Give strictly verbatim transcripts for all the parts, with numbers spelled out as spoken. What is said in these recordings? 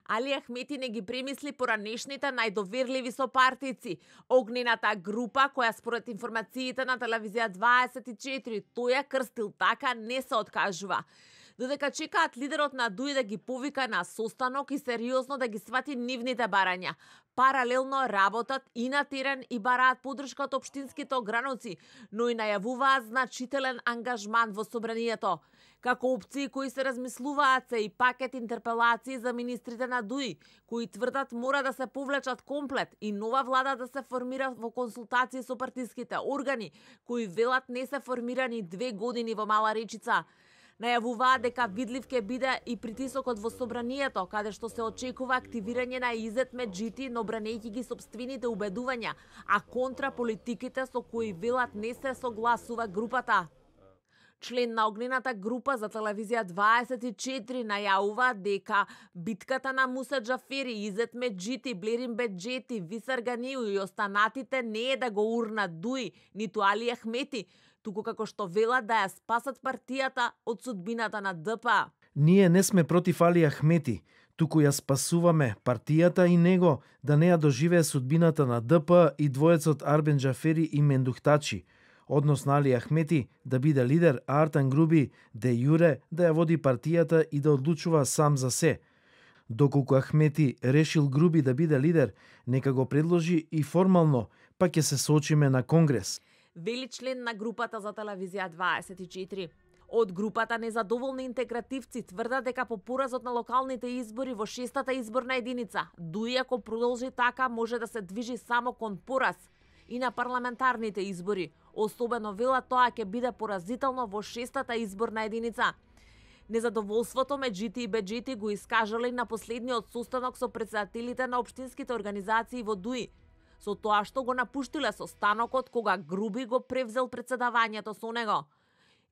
Али Ахмети не ги премисли поранешните најдоверливи сопартици. Огнената група, која според информациите на телевизија дваесет и четири тој ја крстил така, не се откажува. Додека чекаат лидерот на ДУИ да ги повика на состанок и сериозно да ги свати нивните барања. Паралелно работат и на терен и бараат поддршка од општинските ограноци, но и најавуваат значителен ангажман во собранието. Како опции кои се размислуваат се и пакет интерпелации за министрите на ДУИ, кои тврдат мора да се повлечат комплет и нова влада да се формира во консултации со партиските органи, кои велат не се формирани две години во Мала Речица. Најавуваат дека видлив ќе биде и притисокот во собранието, каде што се очекува активирање на Изет Меджити, но бранејќи ги сопствените убедувања, а контра политиките со кои велат не се согласува групата. Член на огнената група за телевизија дваесет и четири најавува дека битката на Муса Џафери, Изет Меджити, Блерин Беџети, Висар Ганиу и останатите не е да го урнат ДУИ, ниту Али Ахмети, туку како што велат да ја спасат партијата од судбината на ДПА. Ние не сме против Али Ахмети, туку ја спасуваме партијата и него да не ја доживее судбината на ДПА и двоецот Арбен Џафери и Мендухтачи, односно Али Ахмети да биде лидер, а Артан Груби де јуре да ја води партијата и да одлучува сам за се. Доколку Ахмети решил Груби да биде лидер, нека го предложи и формално, па ќе се соочиме на Конгрес. Вели член на групата за телевизија дваесет и четири. Од групата незадоволни интегративци тврдат дека по поразот на локалните избори во шестата изборна единица, ДУИ ако продолжи така може да се движи само кон пораз и на парламентарните избори. Особено вела тоа ќе биде поразително во шестата изборна единица. Незадоволството Меджити и Беџети го искажале на последниот состанок со претседателите на општинските организации во ДУИ, со тоа што го напуштиле состанокот кога Груби го превзел претседавањето со него.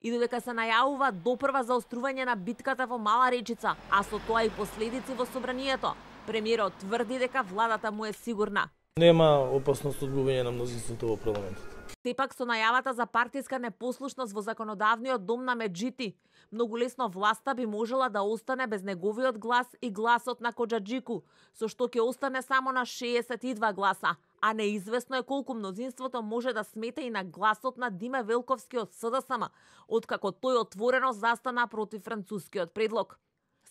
И додека се најавува допрва заострување на битката во Мала Речица, а со тоа и последици во собранието, премиерот тврди дека владата му е сигурна. Нема опасност од губење на мнозинството во парламентот. Сепак со најавата за партиска непослушност во законодавниот дом на Меджити, многу лесно власта би можела да остане без неговиот глас и гласот на Коџаџику, со што ќе остане само на шеесет и два гласа, а неизвестно е колку мнозинството може да смета и на гласот на Диме Велковски од СДСМ, откако тој отворено застана против францускиот предлог.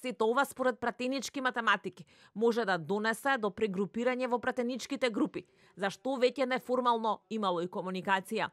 Сето ова според пратенички математики може да донесе до прегрупирање во пратеничките групи, за што веќе неформално имало и комуникација.